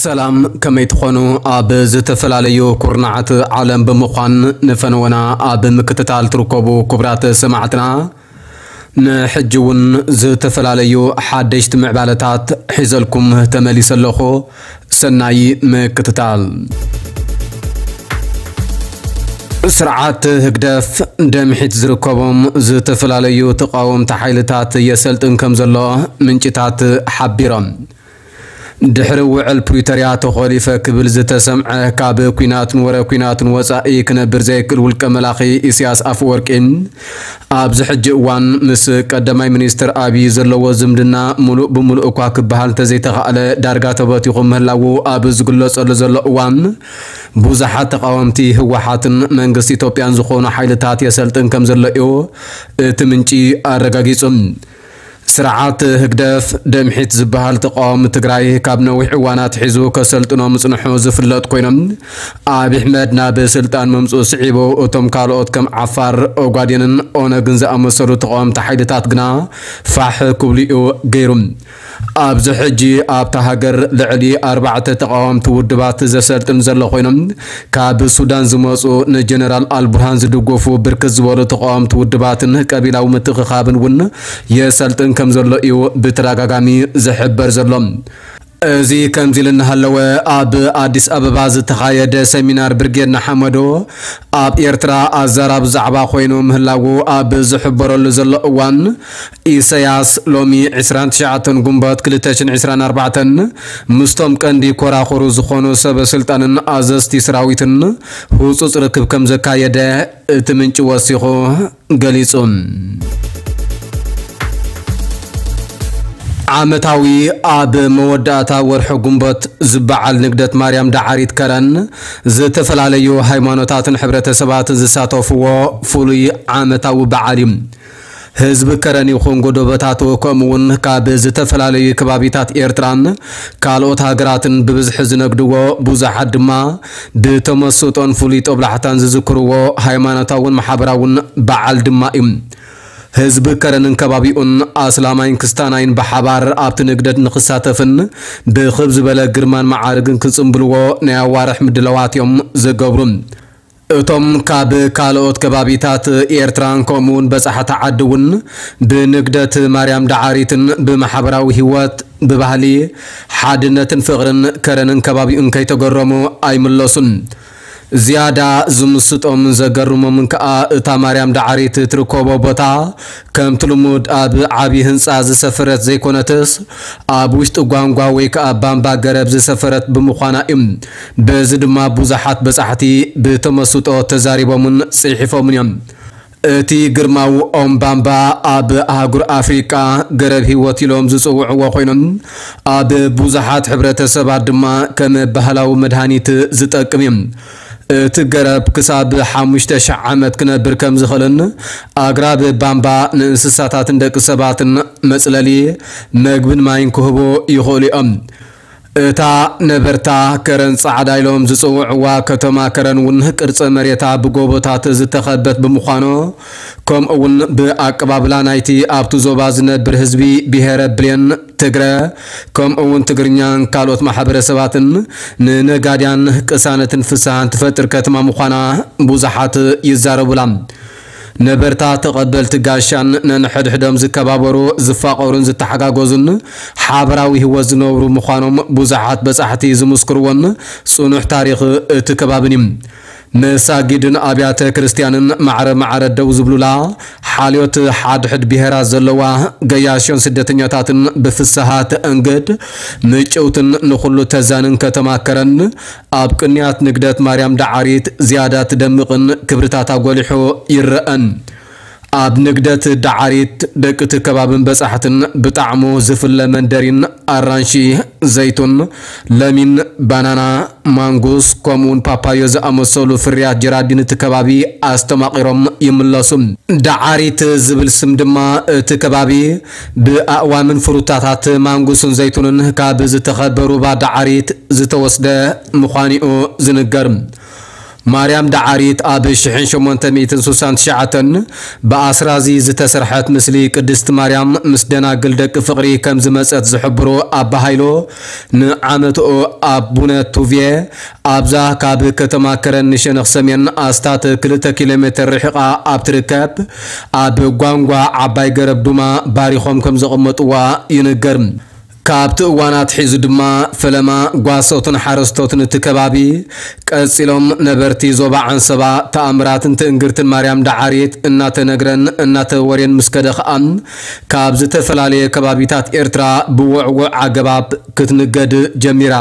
ሰላም፣ ከመይ ትኾኑ? ኣብ ዝተፈላለዩ ኩርናዓት ዓለም ብምዃን ንፈነወና ኣብ ምክትታል ትርከቡ ክቡራት ሰማዕትና፣ ንሕጂ እውን ዝተፈላለዩ ሓደሽቲ ምዕባለታት ሒዘልኩም ተመሊሰ ኣለኹ። ሰናይ ምክትታል። ስርዓት ህግደፍ ደምሒት ዝርከቦም ዝተፈላለዩ ተቃወምቲ ሓይልታት የሰልጥን ከም ዘሎ ምንጭታት ሓቢሮም። ድሕሪ ውዕል ፕሪቶርያ ተኾሊፈ ክብል ዝተሰምዐ፣ ካብ ኲናትን ወረ ኲናትን ወጻኢ ክነብር ዘይክእል ውልቀ መላኺ ኢሳያስ ኣፈወርቂ፣ ኣብዚ ሕጂ እዋን ምስ ቀዳማይ ሚኒስትር ኣብይ ዘለዎ ዝምድና ምሉእ ብምሉእ እኳ ክበሃል እንተዘይተኻእለ፣ ዳርጋ ተበቲኹ ምህላዉ ኣብ ዝግለጸሉ ዘሎ እዋን፣ ብዙሓት ተቓወምቲ ህወሓትን መንግስቲ ኢትዮጵያን ዝኾኑ ሓይልታት የሰልጥን ከም ዘሎ እዩ እቲ ምንጪ ኣረጋጊጹ። ስርዓት ህግደፍ ደምሒት ዝበሃል ተቃዋሚ ትግራይ ካብ ነዊሕ እዋን ኣትሒዙ ከሰልጥኖ ምጽንሑ ዝፍለጥ ኮይኖም፣ ኣብ ኣሕመድ ናብ ስልጣን ምምጽኡ ስዒቡ እቶም ካልኦት ከም ዓፋር፣ ኦጋዴንን ኦነግን ዝኣመሰሉ ተቃወምቲ ሓይልታት ግና ፋሕ ክብሉ እዩ ገይሩ። ኣብዚ ሕጂ ኣብታ ሃገር ልዕሊ ኣርባዕተ ተቃወምቲ ውድባት ዘሰልጥን ዘሎ ኮይኖም፣ ካብ ሱዳን ዝመጹ ንጀነራል ኣልቡርሃን ዝድገፉ ብርክት ዝበሉ ተቃወምቲ ውድባትን ቀቢላዊ ምትእኽኻብን እውን የሰልጥን ከም ዘሎ እዩ ብተደጋጋሚ ዝሕበር ዘሎ። እዚ ከምዚ ኢሉ እናሃለወ፣ ኣብ ኣዲስ ኣበባ ዝተኻየደ ሰሚናር ብርጌድ ንሓመዶ ኣብ ኤርትራ ኣዛራቢ ዛዕባ ኮይኑ ምህላዉ ኣብ ዝሕበረሉ ዘሎ እዋን፣ ኢሳያስ ሎሚ ዕስራን ትሽዓተን ጉንበት ክልተ ሽሕን ዕስራን ኣርባዕተን ምስቶም ቀንዲ ኮራኹሩ ዝኾኑ ሰበ ስልጣንን ኣዘዝቲ ሰራዊትን ህጹጽ ርክብ ከም ዘካየደ እቲ ምንጪ ወሲኹ ገሊጹ። ዓመታዊ ኣብ መወዳእታ ወርሒ ጉንበት ዝበዓል ንግደት ማርያም ዳዓሪት ከረን ዝተፈላለዩ ሃይማኖታትን ሕብረተሰባትን ዝሳተፍዎ ፍሉይ ዓመታዊ በዓል እዩ። ህዝቢ ከረን ይኹን ጎደቦታቱ፣ ከምኡ እውን ካብ ዝተፈላለዩ ከባቢታት ኤርትራን ካልኦት ሃገራትን ብብዝሒ ዝነግድዎ፣ ብዙሓት ድማ ብተመስጦን ፍሉይ ጦብላሕታን ዝዝክርዎ ሃይማኖታውን ማሕበራውን በዓል ድማ እዩ። ህዝቢ ከረንን ከባቢኡን፣ ኣስላማይን ክስታናይን ብሓባር ኣብቲ ንግደት ንክሳተፍን ብኽብ ዝበለ ግርማን መዓርግን ክጽምብልዎ ናይ ኣዋርሕ ምድላዋት እዮም ዝገብሩ። እቶም ካብ ካልኦት ከባቢታት ኤርትራን ከምኡውን በጻሕቲ ዓዲ እውን ብንግደት ማርያም ዳዓሪትን ብማሕበራዊ ህይወት፣ ብባህሊ፣ ሓድነትን ፍቕርን ከረንን ከባቢኡን ከይተገረሙ ኣይምለሱን። ዝያዳ ዝምስጦምን ዘገርሞምን ከኣ እታ ማርያም ዳዓሪት ትርከቦ ቦታ ከምቲ ልሙድ ኣብ ዓቢ ህንጻ ዝሰፈረት ዘይኮነትስ፣ ኣብ ውሽጢ ጓንጓ ወይ ከኣ ባምባ ገረብ ዝሰፈረት ብምዃና እዩ። በዚ ድማ ብዙሓት በጻሕቲ ብተመስጦ ተዛሪቦምን ጽሒፎምን እዮም። እቲ ግርማዊ ኦም ባምባ ኣብ ኣህጉር ኣፍሪቃ ገረብ ህይወት ኢሎም ዝጽውዕዎ ኮይኖም፣ ኣብ ብዙሓት ሕብረተሰባት ድማ ከም ባህላዊ መድሃኒት ዝጠቅም እዩ። እቲ ገረብ ክሳብ ሓሙሽተ ሽሕ ዓመት ክነብር ከም ዝኽእልን፣ ኣግራብ ባምባ ንእንስሳታትን ደቂ ሰባትን መጽለሊ፣ መግብን ማይን ክህቡ ይኽእሉ እዮም። እታ ነበርታ ከረን ጻዕዳ ኢሎም ዝጽውዕዋ ከተማ ከረን እውን ቅርጸ መሬታ ብጎቦታት ዝተኸበት ብምዃኑ፣ ከምኡ እውን ብኣቀባብላ ናይቲ ኣብቲ ዞባ ዝነብር ህዝቢ ብሄረ ብሌን ትግረ፣ ከምኡ እውን ትግርኛን ካልኦት ማሕበረሰባትን ንነጋድያን ቅሳነትን ፍስሃን ትፈጥር ከተማ ምዃና ብዙሓት ይዛረቡላ። ነበርታ ተቐበልቲ ጋሻን ነንሕድሕዶም ዝከባበሩ፣ ዝፋቐሩን ዝተሓጋገዙን ሓበራዊ ህይወት ዝነብሩ ምዃኖም ብዙሓት በጻሕቲ ዝምስክርዎን ጽኑሕ ታሪኽ እቲ ከባብን እዩ። መሳጊድን ኣብያተ ክርስቲያንን ማዕረ ማዕረ ደው ዝብሉላ፣ ሓልዮት ሓድሕድ ብሄራት ዘለዋ፣ ገያሾን ስደተኛታትን ብፍስሃ ተእንግድ፣ ምጭውትን ንኹሉ ተዛንን ከተማ ከረን፣ ኣብ ቅንያት ንግደት ማርያም ዳዓሪት ዝያዳ ትደምቕን ክብርታታ ጎሊሑ ይረኣን። ኣብ ንግደት ዳዓሪት ደቂ እቲ ከባብን በጻሕትን ብጣዕሙ ዝፍለ መንደሪን ኣራንሺ፣ ዘይቱን፣ ለሚን፣ ባናና፣ ማንጉስ፣ ከምኡውን ፓፓዮ ዝኣመሰሉ ፍርያት ጀራዲን እቲ ከባቢ ኣስተማቒሮም ይምለሱ። ዳዓሪት ዝብል ስም ድማ እቲ ከባቢ ብኣእዋምን ፍሩታታት ማንጉስን ዘይቱንን ካብ ዝተኸበ ሩባ ዳዓሪት ዝተወስደ ምዃኑ'ዩ ዝንገር። ማርያም ዳዓሪት ኣብ ሽሕን ሸሞንተ ሚእትን ስሳን ትሽዓተን ብኣስራዚ ዝተሰርሐት ምስሊ ቅድስቲ ማርያም ምስ ደናግል ደቂ ፍቕሪ ከም ዝመጸት ዝሕብሩ ኣባ ሃይሎ፣ ንዓመትኡ ኣቡነ ቱቭየ ኣብዛ ካብ ከተማ ከረን ንሸነኽ ሰሜን ኣስታት ክልተ ኪሎ ሜተር ርሒቓ ኣብ ትርከብ ኣብ ጓንጓ ዓባይ ገረብ ዱማ ባሪኾም ከም ዘቐመጥዋ ይንገር። ካብቲ እዋን ኣትሒዙ ድማ ፈለማ ጓሶትን ሓረስቶትን እቲ ከባቢ ቀጺሎም፣ ነበርቲ ዞባ ዓንሰባ ተኣምራትን ትእንግርትን ማርያም ዳዓሪት እናተነግረን እናተወርየን ምስ ከደ ኸኣ፣ ካብ ዝተፈላለየ ከባቢታት ኤርትራ ብውዕዉዕ ኣገባብ ክትንገድ ጀሚራ።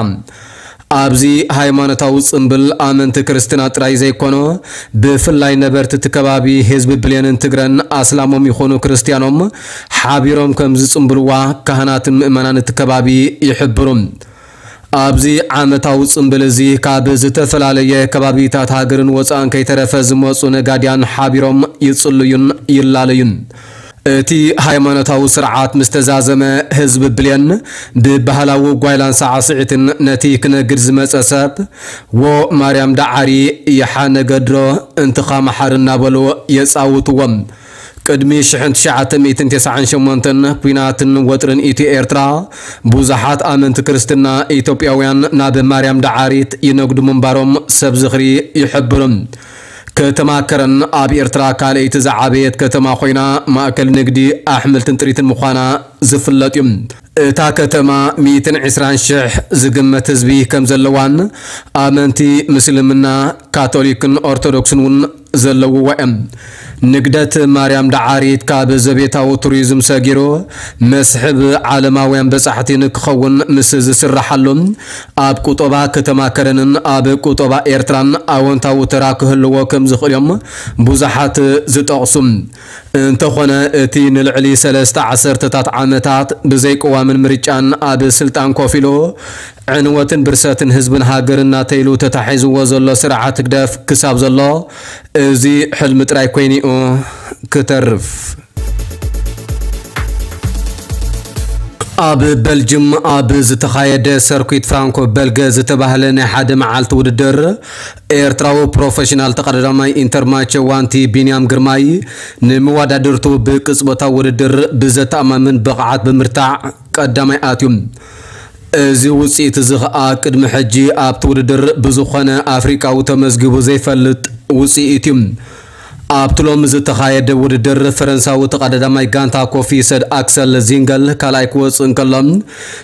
ኣብዚ ሃይማኖታዊ ጽምብል ኣመንቲ ክርስትና ጥራይ ዘይኮነ፣ ብፍላይ ነበርቲ እቲ ከባቢ ህዝቢ ብሌንን ትግረን ኣስላሞም ይኹኑ ክርስትያኖም ሓቢሮም ከም ዝጽምብልዋ ካህናትን ምእመናን እቲ ከባቢ ይሕብሩ። ኣብዚ ዓመታዊ ጽምብል እዚ ካብ ዝተፈላለየ ከባቢታት ሃገርን ወጻእን ከይተረፈ ዝመጹ ነጋድያን ሓቢሮም ይጽልዩን ይላለዩን። እቲ ሃይማኖታዊ ስርዓት ምስ ተዛዘመ፣ ህዝቢ ብሌን ብባህላዊ ጓይላን ሳዕስዒትን ነቲ ክነግድ ዝመጸ ሰብ፣ "ዎ ማርያም ዳዓሪ፣ ይሓ ነገድሮ፣ እንትኻ መሓር" እናበሉ የጻውትዎም። ቅድሚ ሽሕን ትሽዓተ ሚእትን ተስዓን ሸሞንተን ኲናትን ወጥርን ኢትዮ ኤርትራ፣ ብዙሓት ኣመንቲ ክርስትና ኢትዮጵያውያን ናብ ማርያም ዳዓሪት ይነግዱ ምንባሮም ሰብ ዝኽሪ ይሕብሩ። ከተማ ከረን ኣብ ኤርትራ ካልኣይቲ ዝዓበየት ከተማ ኮይና፣ ማእከል ንግዲ፣ ኣሕምልትን ጥሪትን ምዃና ዝፍለጥ እዩ። እታ ከተማ ሚእትን ዕስራን ሽሕ ዝግመት ህዝቢ ከም ዘለዋን፣ ኣመንቲ ምስልምና፣ ካቶሊክን ኦርቶዶክስን እውን ዘለውዋ እዮም። ንግደት ማርያም ዳዓሪት ካብ ዘቤታዊ ቱሪዝም ሰጊሩ መስሕብ ዓለማውያን በጻሕቲ ንክኸውን ምስ ዝስራሓሉ፣ ኣብ ቁጠባ ከተማ ከረንን ኣብ ቁጠባ ኤርትራን ኣወንታዊ ተራ ክህልዎ ከም ዝኽእል እዮም ብዙሓት ዝጠቕሱ። እንተኾነ፣ እቲ ንልዕሊ ሰለስተ ዓሰርተታት ዓመታት ብዘይቅዋምን ምርጫን ኣብ ስልጣን ኮፍ ኢሉ፣ ዕንወትን ብርሰትን ህዝብን ሃገርን ናተይሉ ተታሒዝዎ ዘሎ ስርዓት ህግደፍ ክሳብ ዘሎ፣ እዚ ሕልሚ ጥራይ ኮይኑ'ዩ ክተርፍ። ኣብ በልጅም ኣብ ዝተኻየደ ሰርኩት ፍራንኮ በልገ ዝተባህለ ናይ ሓደ መዓልቲ ውድድር፣ ኤርትራዊ ፕሮፌሽናል ተቐዳዳማይ ኢንተርማቸ ዋንቲ ቢንያም ግርማይ፣ ንመወዳድርቱ ብቅጽበታዊ ውድድር ብዘተኣማምን ብቕዓት ብምርታዕ ቀዳማይ ኣትዩ። እዚ ውጽኢት እዚ ኸኣ ቅድሚ ሕጂ ኣብቲ ውድድር ብዝኾነ ኣፍሪቃዊ ተመዝጊቡ ዘይፈልጥ ውጽኢት እዩ። ኣብቲ ሎሚ ዝተኻየደ ውድድር፣ ፈረንሳዊ ተቐዳዳማይ ጋንታ ኮፊ ሰድ ኣክሰል ዚንገል ካልኣይ ክወጽእ እንከሎ፣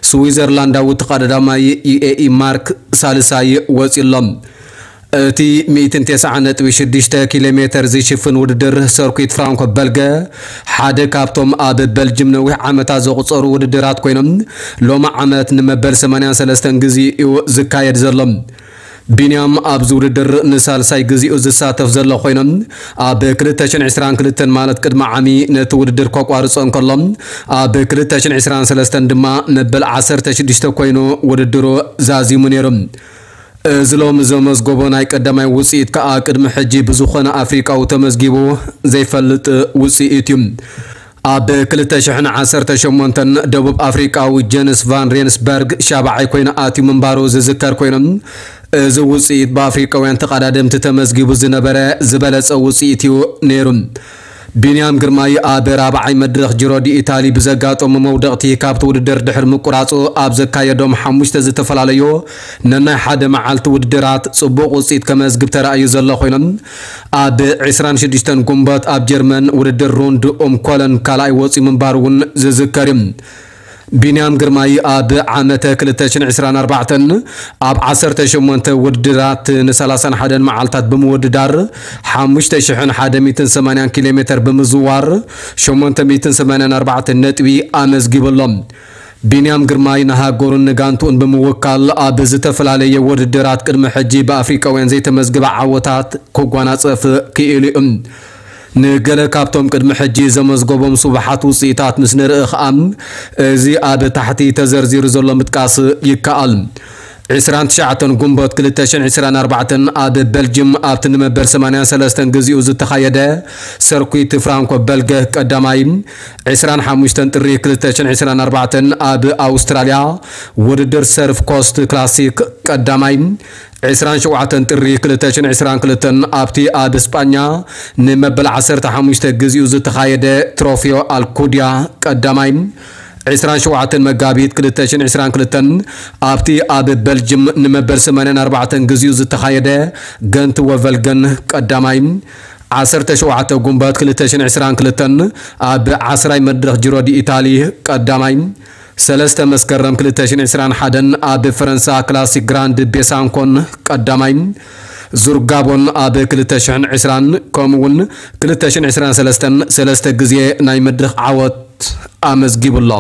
ስዊዘርላንዳዊ ተቐዳዳማይ ዩኤኢ ማርክ ሳልሳይ ወጺኡ ኣሎ። እቲ ሚእትን ተስዓን ነጥቢ ሽዱሽተ ኪሎ ሜተር ዝሽፍን ውድድር ሰርኩት ፍራንኮ በልገ፣ ሓደ ካብቶም ኣብ በልጅም ነዊሕ ዓመታት ዘቑጸሩ ውድድራት ኮይኖም፣ ሎሚ ዓመት ንመበል ሰማንያን ሰለስተን ግዜ እዩ ዝካየድ ዘሎ። ቢንያም ኣብዚ ውድድር ንሳልሳይ ግዜኡ ዝሳተፍ ዘሎ ኮይኖም፣ ኣብ ክልተ ሽሕን ዕስራን ክልተን ማለት ቅድሚ ዓሚ ነቲ ውድድር ከቋርጾ እንከሎ፣ ኣብ ክልተ ሽሕን ዕስራን ሰለስተን ድማ መበል ዓሰርተ ሽዱሽተ ኮይኑ ውድድሩ ዛዚሙ ነይሩ። እዚ ሎሚ ዘመዝገቦ ናይ ቀዳማይ ውጽኢት ከኣ ቅድሚ ሕጂ ብዝኾነ ኣፍሪቃዊ ተመዝጊቡ ዘይፈልጥ ውጽኢት እዩ። ኣብ ክልተ ሽሕን ዓሰርተ ሸሞንተን ደቡብ ኣፍሪቃዊ ጀንስ ቫን ሬንስበርግ ሻብዓይ ኮይኑ ኣትዩ ምንባሩ ዝዝከር ኮይኑ፣ እዚ ውጽኢት ብኣፍሪቃውያን ተቐዳደምቲ ተመዝጊቡ ዝነበረ ዝበለጸ ውጽኢት እዩ ነይሩ። ቢንያም ግርማይ ኣብ ራብዓይ መድረኽ ጂሮ ዲ ኢታሊ ብዘጋጠሞ መውደቕቲ ካብቲ ውድድር ድሕሪ ምቁራጹ፣ ኣብ ዘካየዶም ሓሙሽተ ዝተፈላለዩ ነናይ ሓደ መዓልቲ ውድድራት ጽቡቕ ውጽኢት ከመዝግብ ተራእዩ ዘሎ ኮይኖም፣ ኣብ ዕስራን ሽዱሽተን ጉንበት ኣብ ጀርመን ውድድር ሩንድ ኡም ኮለን ካልኣይ ወጺኡ ምንባሩ እውን ዝዝከር እዩ። ቢንያም ግርማይ ኣብ ዓመተ ክልተ ሽሕን ዕስራን ኣርባዕተን ኣብ ዓሰርተ ሸሞንተ ውድድራት ንሰላሳን ሓደን መዓልታት ብምውድዳር፣ ሓሙሽተ ሽሕን ሓደ ሚእትን ሰማንያን ኪሎ ሜተር ብምዝዋር፣ ሸሞንተ ሚእትን ሰማንያን ኣርባዕተን ነጥቢ ኣመዝጊቡ ኣሎ። ቢንያም ግርማይ ንሃገሩን ንጋንትኡን ብምውካል ኣብ ዝተፈላለየ ውድድራት ቅድሚ ሕጂ ብኣፍሪቃውያን ዘይተመዝግበ ዓወታት ክጓናጸፍ ክኢሉ እዩ። ንገለ ካብቶም ቅድሚ ሕጂ ዘመዝገቦም ስቡሓት ውጽኢታት ምስ ንርኢ ኸኣ፣ እዚ ኣብ ታሕቲ ተዘርዚሩ ዘሎ ምጥቃስ ይከኣል። ዕስራን ትሽዓተን ጉንበት ክልተ ሽሕን ዕስራን ኣርባዕተን ኣብ በልጅም ኣብቲ ንመበል ሰማንያን ሰለስተን ግዜኡ ዝተኻየደ ሰርኩት ፍራንኮ በልገ ቀዳማይ፣ ዕስራን ሓሙሽተን ጥሪ ክልተ ሽሕን ዕስራን ኣርባዕተን ኣብ ኣውስትራልያ ውድድር ሰርፍ ኮስት ክላሲክ ቀዳማይ፣ ዕስራን ሸውዓተን ጥሪ ክልተ ሽሕን ዕስራን ክልተን ኣብቲ ኣብ እስጳኛ ንመበል ዓሰርተ ሓሙሽተ ግዜኡ ዝተኻየደ ትሮፊዮ ኣልኩድያ ቀዳማይ፣ ዕስራን ሸውዓተን መጋቢት ክልተ ሽሕን ዕስራን ክልተን ኣብቲ ኣብ በልጅም ንመበል ሰማንያን ኣርባዕተን ግዜኡ ዝተኻየደ ገንት ወቨልገን ቀዳማይ፣ ዓሰርተ ሸውዓተ ጉንበት ክልተ ሽሕን ዕስራን ክልተን ኣብ ዓስራይ መድረኽ ጅሮ ዲ ኢታሊ ቀዳማይ፣ ሰለስተ መስከረም ክልተ ሽሕን ዕስራን ሓደን ኣብ ፈረንሳ ክላሲክ ግራንድ ቤሳንኮን ቀዳማይ፣ ዙር ጋቦን ኣብ ክልተ ሽሕን ዕስራን ከምኡውን ክልተ ሽሕን ዕስራን ሰለስተን ሰለስተ ግዜ ናይ መድረኽ ዓወት ኣመዝጊቡ ኣሎ።